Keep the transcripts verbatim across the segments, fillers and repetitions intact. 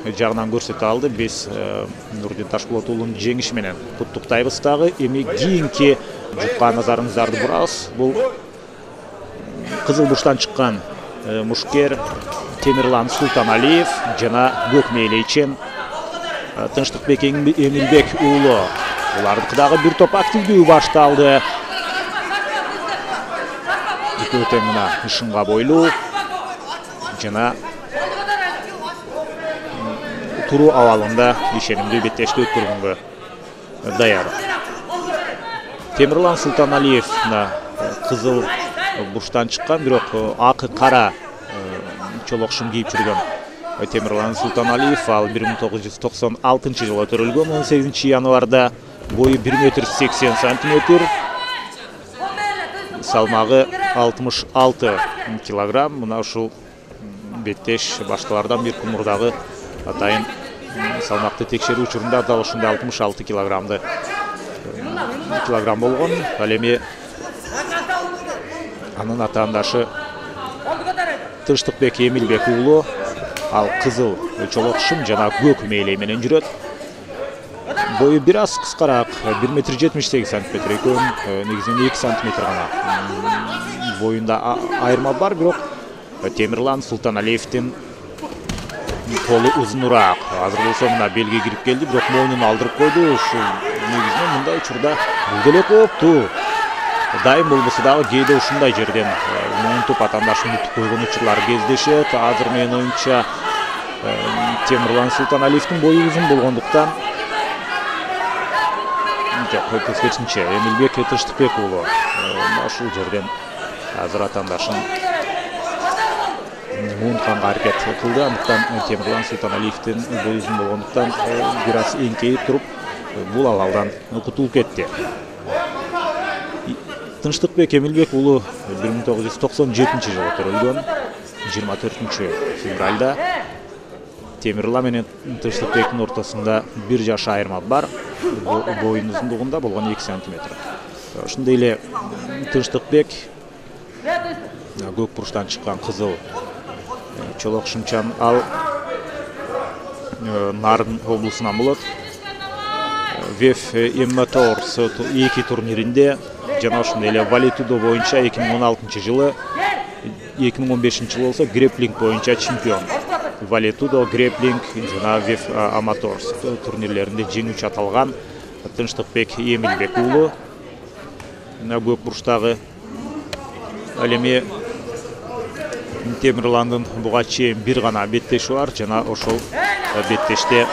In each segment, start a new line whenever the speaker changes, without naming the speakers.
жагынан көрсөтө алды. Биз Нурдин Ташполот уулунун жеңиши менен куттуктайбыз дагы. Эми кийинки жутка назарыңыздарды бурабыз. Бул Кызыл бурчтан чыккан мушкер Темирлан Султаналиев жана көк мээлейчен Тынчтыкбек Эмилбек уулу. Улардыкы дагы бир топ активдүү башталды. Экөө тең мына ышынга бойлуу жана туруу абалында ишенимдүү беттешти өткөргөнгө даяр. Темирлан Султаналиев кызыл бурчтан чыккан, бирок ак кара чолок шым кийип жүргөн Темирлан Султаналиев ал бир миң тогуз жүз токсон алтынчы жылы төрөлгөн. он сегизинчи январда бою бир метр сексен сантиметр, салмагы алтымыш алты килограмм. Мына ушул беттеш башкалардан бир кумурдагы атайын салмакты текшерүү учурунда дал ушундай алтымыш алты килограммды килограмм болгон. Ал эми анын атаандашы Тынчтыкбек Эмилбек уулу ал кызыл чолок шым жана көк мээлей менен жүрөт. Бою бир аз кыскараак, бир метр жетимиш сегиз сантиметр, экөөнүн негизинен эки сантиметр гана боюнда айырма бар, бирок Темирлан Султаналиевдин колу узунураак. Азыр болсо мына белге кирип келди, бирок мойнун алдырып койду. Ушул негизинен мындай учурда бул деле кооптуу. Дайым болбосо дагы кээде ушундай жерден монтуп атаандашын утуп койгон учурлар кездешет. Азыр менин оюмча Темирлан Султаналиевдин бою узун болгондуктан жок, тескерисинче Эмилбек Тынчтыкбек уулу ушул жерден азыр атаандашын муунтканга аракет кылды. Андыктан Темирлан Султаналиевдин бою узун болгондуктан бир аз эңкейип туруп бул абалдан кутулуп кетти. Тынчтыкбек Эмилбек уулу бир миң тогуз жүз токсон жетинчи жылы төрөлгөн, жыйырма төртүнчү февралда. Темирлан менен Тынчтыкбектин ортосунда бир жаш айырма бар. Боюнун узундугунда болгон эки сантиметр. Ошондой эле Тынчтыкбек көк бурчтан чыккан кызыл чолок шымчан ал Нарын облусунан болот. Веф Эммоторс эки турниринде жана ошондой эле Валетудо боюнча эки миң он алтынчы жылы, эки миң он бешинчи жылы болсо греплинг боюнча чемпион. Валетудо, греплинг жана Веф Аматорс турнирлеринде жеңүүчү аталган Тынчтыкбек Эмилбек уулу. Көк бурчтагы ал эми Темирландын буга чейин бир гана беттеши бар жана ошол беттеште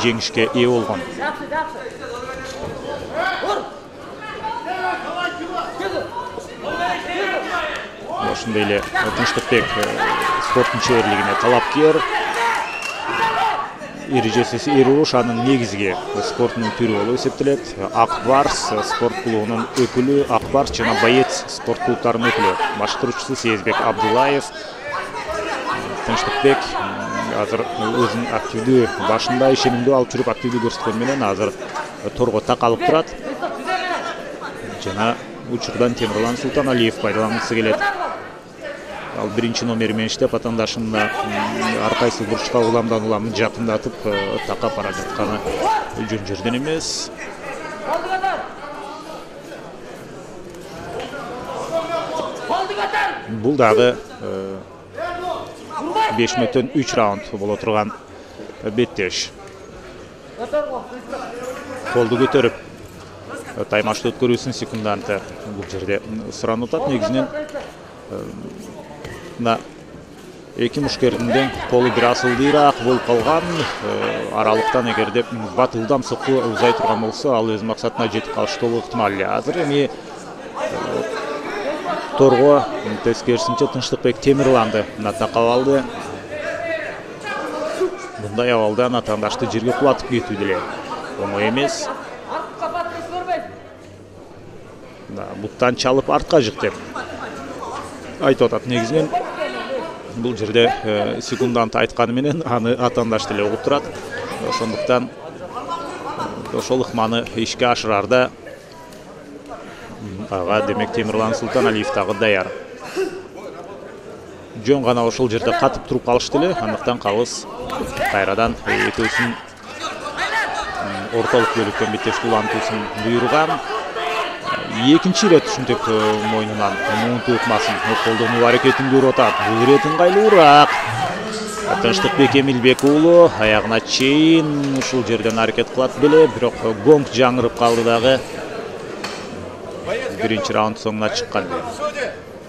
жеңишке ээ болгон. Ошондой эле Тынчтыкбек спорттун чеберлигине талапкер. Эрежеси эруш анын негизги спорттун түрү болуп эсептелет. Ак Барс спорт клубунун өкүлү, Ак Барс жана Боец спорт клубтарынын өкүлү. Баштыруучусу Сезбек Абдуллаев. Тынчтыкбек азыр өзүнүн активдүү башында ишенимдүү алып жүрүп активдүү көрсөткөн менен азыр торго такалып турат. Жана учурдан Темирлан Султаналиев пайдалангысы келет. Ал биринчи номери менен иштеп атаандашын ар кайсы бурчка уламдан улам жакындатып такап бара жатканы жөн жерден эмес. Бул дагы беш мүнөттөн үч раунд боло турган беттеш. Колду көтөрүп таймашты өткөрүүсүн секунданты бул жерде суранып атат. Негизинен мына эки мушкердин колу бир аз ылдыйраак болуп калган. Аралыктан эгерде батылдам сокку узай турган болсо, ал өз максатына жетип калышы толук ыктымал. Азыр эми торго тескерисинче Тынчтыкбек Темирланды такап алды. Мындай абалдан атаандашты жерге кулатып кетүү деле оңой эмес. Буттан чалып артка жык деп айтып атат. Негизинен бул жерде секундант айтканы менен аны атаандаш деле угуп турат. Ошондуктан ошол ыкманы ишке ашырарда ага демек Темирлан Султаналиев дагы даяр. жөн гана ошол жерде катып туруп калышты эле. Андыктан калыс кайрадан экөөсүн ортолук бөлүктөн беттеш улантуусун буйруган. Экинчи ирет ушинтип мойнунан муунтуу ыкмасын колдонуу аракетин көрүп атат. Бул ирет ыңгайлуураак. Тынчтыкбек Эмилбек уулу аягына чейин ушул жерден аракет кылат беле, бирок гонг жаңырып калды дагы. Биринчи раунд соңуна чыккан.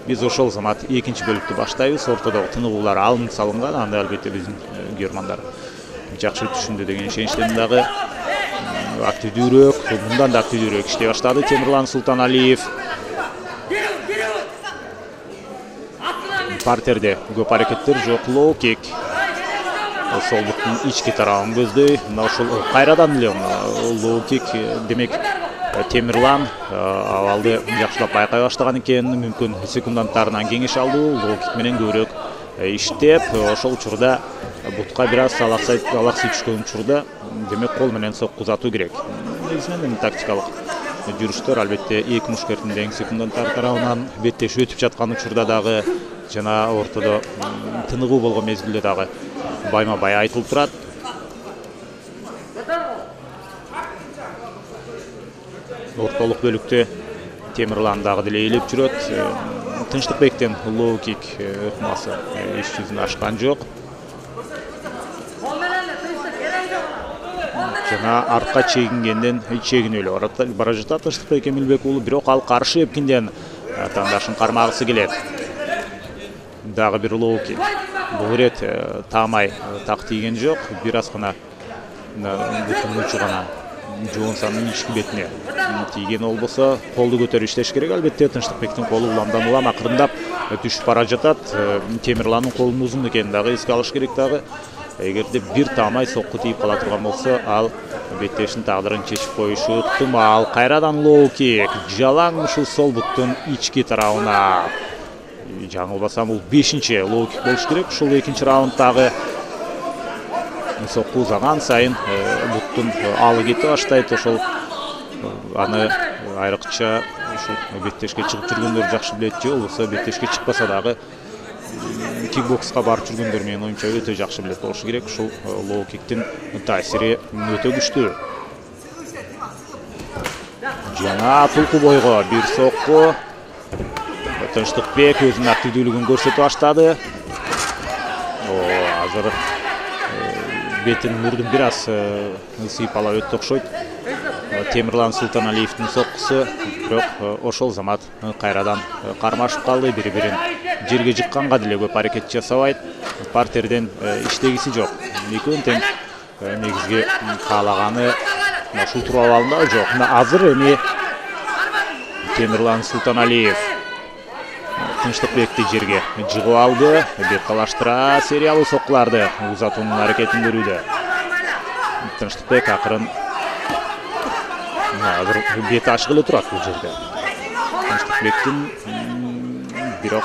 Биз ошол замат экинчи бөлүктү баштайбыз. Ортодогу тыныгуулар алынып салынган. Аны албетте биздин көрмандар жакшы түшүндү деген ишеничтемин дагы. Активдүүрөөк, мындан да активдүүрөөк иштей баштады Темирлан Султаналиев. Партерде көп аракеттер жок. Лоу кик. Сол буттун ички тарабын көздөй. Мына ошол кайрадан эле лоу кик, демек Темирлан абалды жакшылап байкай баштаган экен. Мүмкүн секунданттарынан кеңеш алуу, лоу кик менен көбүрөөк иштеп, ошол учурда бутка бир аз алаксай түшкөн учурда демек кол менен сокку узатуу керек. Негизинен тактикалык жүрүштөр албетте эки мушкердин тең секунданттар тарабынан беттеш өтүп жаткан учурда дагы жана ортодо тыныгуу болгон мезгилде дагы байма бай айтылып турат. Ортолук бөлүктө Темирлан дагы деле ээлеп жүрөт. Тынчтыкбектен лоу кик ыкмасы иш жүзүнө ашкан жок. Жана артка чегингенден чегинип эле бара жатат Тынчтыкбек Эмилбек уулу, бирок ал каршы эпкинден тандашын кармагысы келет. Дагы бир лоу кик. Бул ирет таамай так тийген жок, бир аз гана бутун учу гана жоонсанын ички бетине тийген болбосо колду көтөрүп иштеш керек. Албетте Тынчтыкбектин колу уламдан улам акырындап түшүп бара жатат. Темирландын колунун узун экенин дагы эске алыш керек дагы. Эгерде бир таамай сокку тийип кала турган болсо, ал беттештин тагдырын чечип коюшу ыктымал. Кайрадан лоу кик. Жалаң ушул сол буттун ички тарабына. Жаңылбасам бул бешинчи лоу кик болуш керек. Ушул экинчи раунддагы сокку узаган сайын буттун алы кете баштайт. Ошол аны айрыкча ушул беттешке чыгып жүргөндөр жакшы билет, же болбосо беттешке чыкпаса дагы кикбокска барып жүргөндөр менин оюмча өтө жакшы билет болушу керек. Ушул лоу киктин таасири өтө күчтүү. Жана тулку бойго бир сокку. Тынчтыкбек өзүнүн активдүүлүгүн көрсөтүп баштады. Азыр бетин мурдун бир аз сыйпалап өттү окшойт Темирлан Султаналиевдин соккусу, бирок ошол замат кайрадан кармашып калды. Бири-бирин жерге жыкканга деле көп аракет жасабайт. Партерден иштегиси жок. Экөөнүн тең негизги каалаганы ушул туруп абалында жок. Азыр эми Темирлан Султаналиев Тынчтыкбекти жерге жыгып алды. Бет талаштыра сериялуу соккуларды узатуунун аракетин көрүүдө. Тынчтыкбек акырын азыр бети ачык эле турат бул жерде. Тынчтыкбектин бирок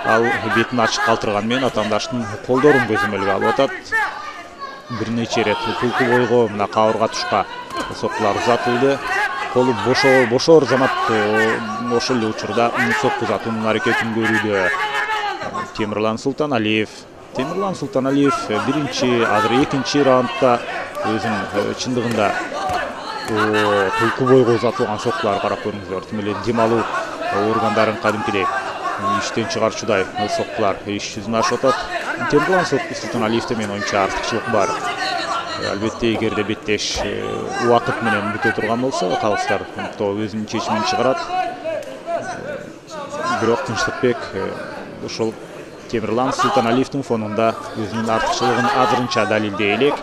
ал бетин ачык калтырган менен атаандаштын колдорун көзөмөлгө алып атат. Бир нече ирет тулку бойго мына кабырга тушка соккулар узатылды. Колу бошо бошоор замат ошол эле учурда сокку узатуунун аракетин көрүүдө. Темирлан Султаналиев Темирлан Султаналиев биринчи, азыр экинчи раундда өзүнүн чындыгында тулку бойго узатылган соккулар карап көрүңүздөр. Тим эле дем алуу органдарын кадимкидей иштен чыгарчудай соккулар иш жүзүнө ашып атат. Темирлан Султаналиевде менин оюмча артыкчылык бар. Албетте эгерде беттеш убакыт менен бүтө турган болсо, калыстар өзүнүн чечимин чыгарат. Бирок Тынчтыкбек ошол Темирлан Султаналиевдин фонунда өзүнүн артыкчылыгын азырынча далилдей элек.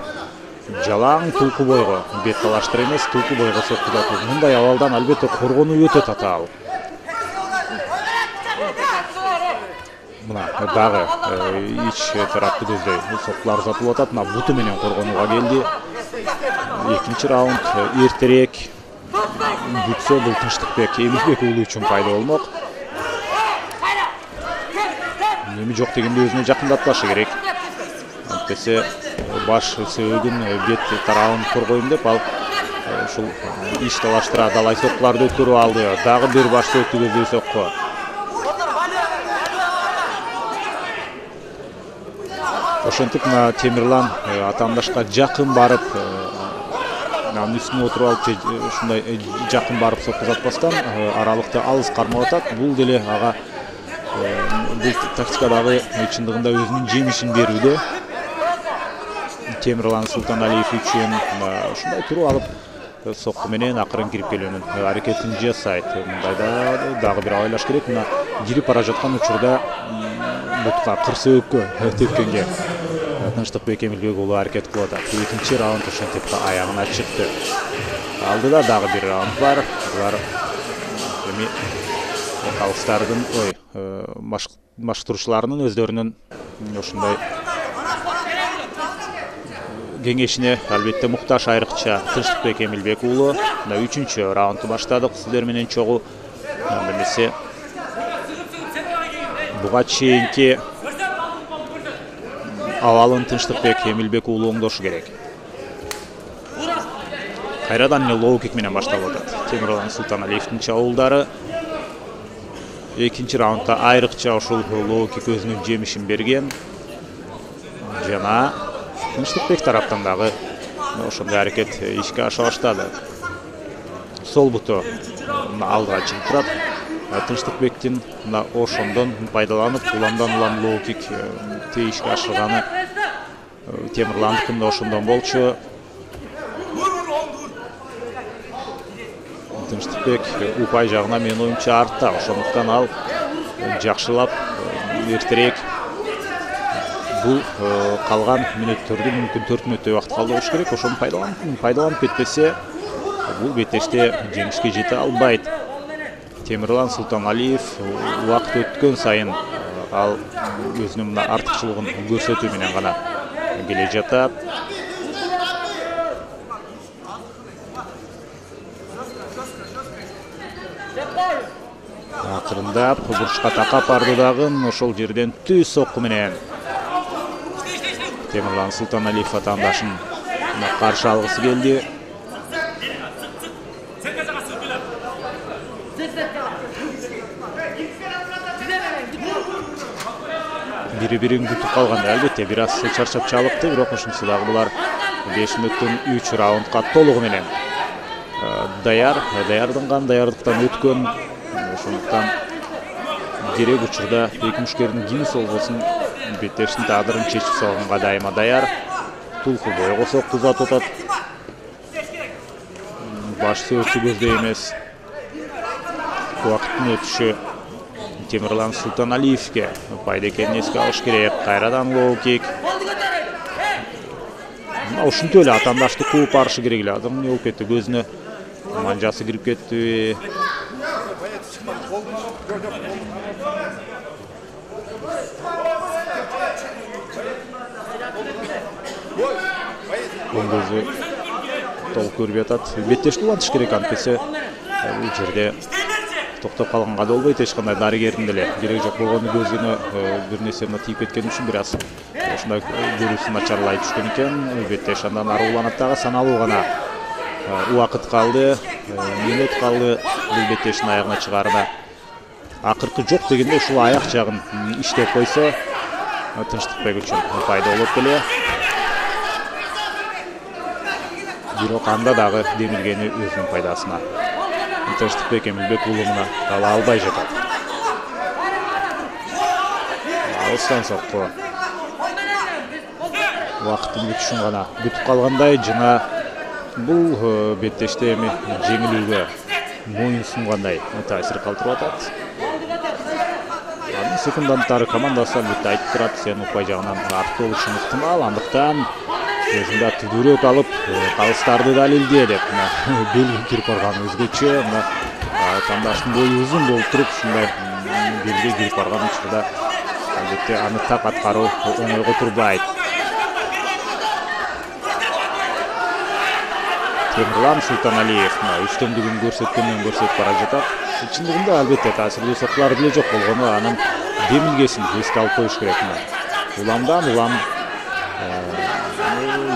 Жалаң тулку бойго бет талаштыр эмес, тулку бойго сокку узатуу. Мындай абалдан албетте коргонуу өтө татаал. Мына дагы ич тарапты көздөй соккулар узатылып атат. Мына буту менен коргонууга келди. Экинчи раунд эртерээк бүтсө бул Тынчтыкбек Эмилбек уулу үчүн пайда болмок. Эми жок дегенде өзүнө жакындатпашы керек. Антесе баш сөөгүн бет тарабын коргойм деп ал ушул иш талаштыра далай соккуларды өткөрүп алды. Дагы бир баш сөөктү көздөй сокку. ошентип мына Темирлан атаандашка жакын барып, анын үстүнө отуруп алып ушундай жакын барып соккузатпастан аралыкты алыс кармап атат. Бул деле ага бул тактикадагы чындыгында өзүнүн жемишин берүүдө. Темирлан Султаналиев үчүн ушундай туруп алып сокку менен акырын кирип келүүнүн аракетин жасайт. Мындайда дагы бир абайлаш керек. Мына кирип бара жаткан учурда бутка кырсөөккө тепкенге Тынчтыкбек Эмилбек уулу аракет кылып атат. Экинчи раунд ошентип аягына чыкты. Алдыда дагы бир раунд бар. Булар эми калыстардын, ой, башкаруучуларынын өздөрүнүн ушундай кеңешине албетте муктаж айрыкча Тынчтыкбек Эмилбек уулу. Мына үчүнчү раундду баштадык сиздер менен чогуу. Эмесе буга чейинки абалын Тынчтыкбек Эмилбек уулу оңдошу керек. Кайрадан эле лоу-кик менен башталып атат Темирлан Султаналиевдин чабуулдары. Экинчи раундда айрыкча ушул лоу-кик өзүнүн жемишин берген. Жана Тынчтыкбек тараптан дагы ошондой аракет ишке аша баштады. Сол буту алдыга чыгып турат. Тынчтыкбектин мына ошондон пайдаланып, уламдан улам лоу-кик ишке ашырганы Темирландыкында ошондон болчу. Тынчтыкбек упай жагына менин оюмча артта, ошондуктан ал жакшылап эртерээк бул калган мүнөттөрдү мүмкүн төрт мүнөттөй убакыт калды болуш керек. Ошону пайдаланып пайдаланып кетпесе, бул беттеште жеңишке жете албайт. Темирлан Султаналиев убакыт өткөн сайын ал өзүнүн мына артыкчылыгын көрсөтүү менен гана келе жатат. Акырындап бурчка такап барды дагы ошол жерден түз сокку менен Темирлан Султаналиев атаандашын каршы алгысы келди. Бири-бирин күтүп калганда албетте бир аз чарчап чалыкты, бирок ошонсу дагы булар беш мүнөттүн үч раундга толугу менен даяр, даярданган, даярдыктан өткөн. Ошондуктан керек учурда эки мушкердин кимиси болбосун беттештин тагдырын чечип салганга дайыма даяр. Тулку бойго сокку узатып атат. Баш сөзсү көздөй эмес. Убакыттын өтүшү Темирлан Султаналиевге пайда экенин эске алыш керек. Кайрадан лоу-кик. Ушинтип эле атаандашты кууп барышы керек эле. Адам эмне болуп кетти? Көзүнө манжасы кирип кетти. Оң көзү толук көрбөй атат. Беттешти улантыш керек, антпесе бул жерде токтоп калганга да болбойт. Эч кандай дарыгердин деле кереги жок болгону, көзүнө бир нерсе тийип кеткен үчүн бир аз ушундай көрүүсү начарлай түшкөн экен. Беттеш андан ары уланат дагы, саналуу гана убакыт калды, мүнөт калды бул беттештин аягына чыгаарына. Акыркы жок дегенде ушул аяк жагын иштеп койсо Тынчтыкбек үчүн пайда болот беле. Бирок анда дагы демилгени өзүнүн пайдасына. Тынчтыкбек Эмилбек уулуна ала албай жатат. Алыстан сокку. Убакыттын бүтүшүн гана күтүп калгандай, жана бул беттеште эми жеңилүүгө моюн сунгандай таасир калтырып атат. Анын секунданттары командасы албетте айтып турат, сен упай жагынан артта болушуң ыктымал, андыктан өзүңдө түдүрөөк алып, калыстарды далилде деп белги кирип барган өзгөчө. Мына атаандаштын бою узун болуп туруп, ушундай белги кирип барган учурда албетте аны так аткаруу оңойго турбайт. Темирлан Султаналиев үстөмдүгүн көрсөткөндөн көрсөтүп бара жатат. Чындыгында албетте таасирлүү соккулар деле жок болгону, анын демилгесин эске алып коюш керек. Уламдан улам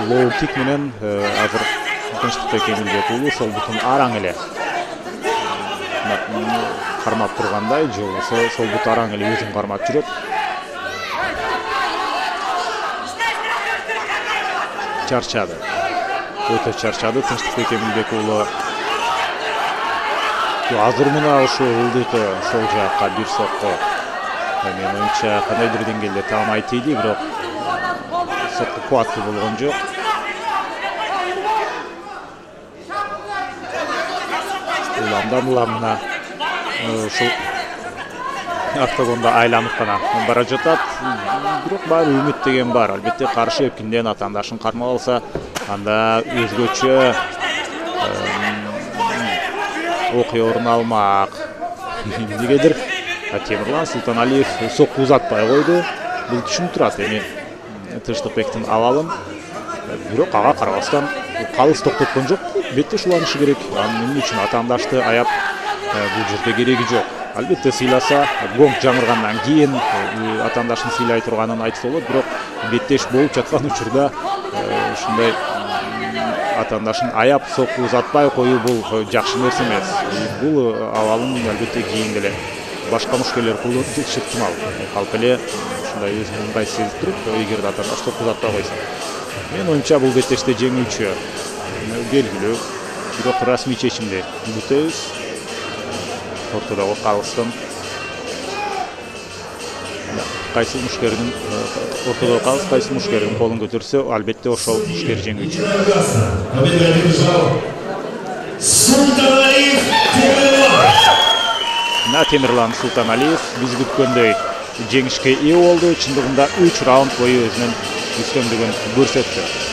лоу-кик менен азыр Тынчтыкбек Эмилбек уулу сол бутун араң эле кармап тургандай, же болбосо сол бут араң эле өзүн кармап жүрөт. чарчады. Өтө чарчады Тынчтыкбек Эмилбек уулу. Азыр мына ошо ылдыйкы сол жакка бир сокко. Менин оюмча кандайдыр деңгээлде таамай тийди, бирок сокко кубаттуу болгон жок. Уламдан уламына ушул октогондо айланып гана бара жатат. Бирок баары үмүт деген бар. Албетте каршы эпкинден атаандашын кармап алса, анда өзгөчө окуя орун алмак. Эмнегедир Темирлан Султаналиев сокку узатпай койду. Бул түшүнүп турат эми Тынчтыкбектин абалын. Бирок ага карабастан калыс токтоткон жок. Бетте шуланышы керек. Анын үчүн атаандашты аяп бул жерде кереги жок. Албетте сыйласа, гонг жаңыргандан кийин атаандашын сыйлай турганын айтса болот, бирок беттеш болуп жаткан учурда ушундай атаандашын аяп сокку узатпай коюу бул жакшы нерсе эмес. Бул абалын албетте кийин деле башка мушкерлер колдонушу ыктымал. Калп эле ушундай өзүн ыңгайсыз сезип туруп, эгерде атаандаш сокку узатпай койсо. Мен оюмча бул беттеште жеңүүчү белгилүү. Бирок расмий чечимди күтөбүз. Ортодогу калыстын кайсы мушкердин ортодогу калыс кайсы мушкердин колун көтөрсө, албетте ошол мушкер жеңүүчү. Мына Темирлан Султаналиев биз күткөндөй жеңишке ээ болду. Чындыгында үч раунд бою өзүнүн үстөмдүгүн көрсөттү.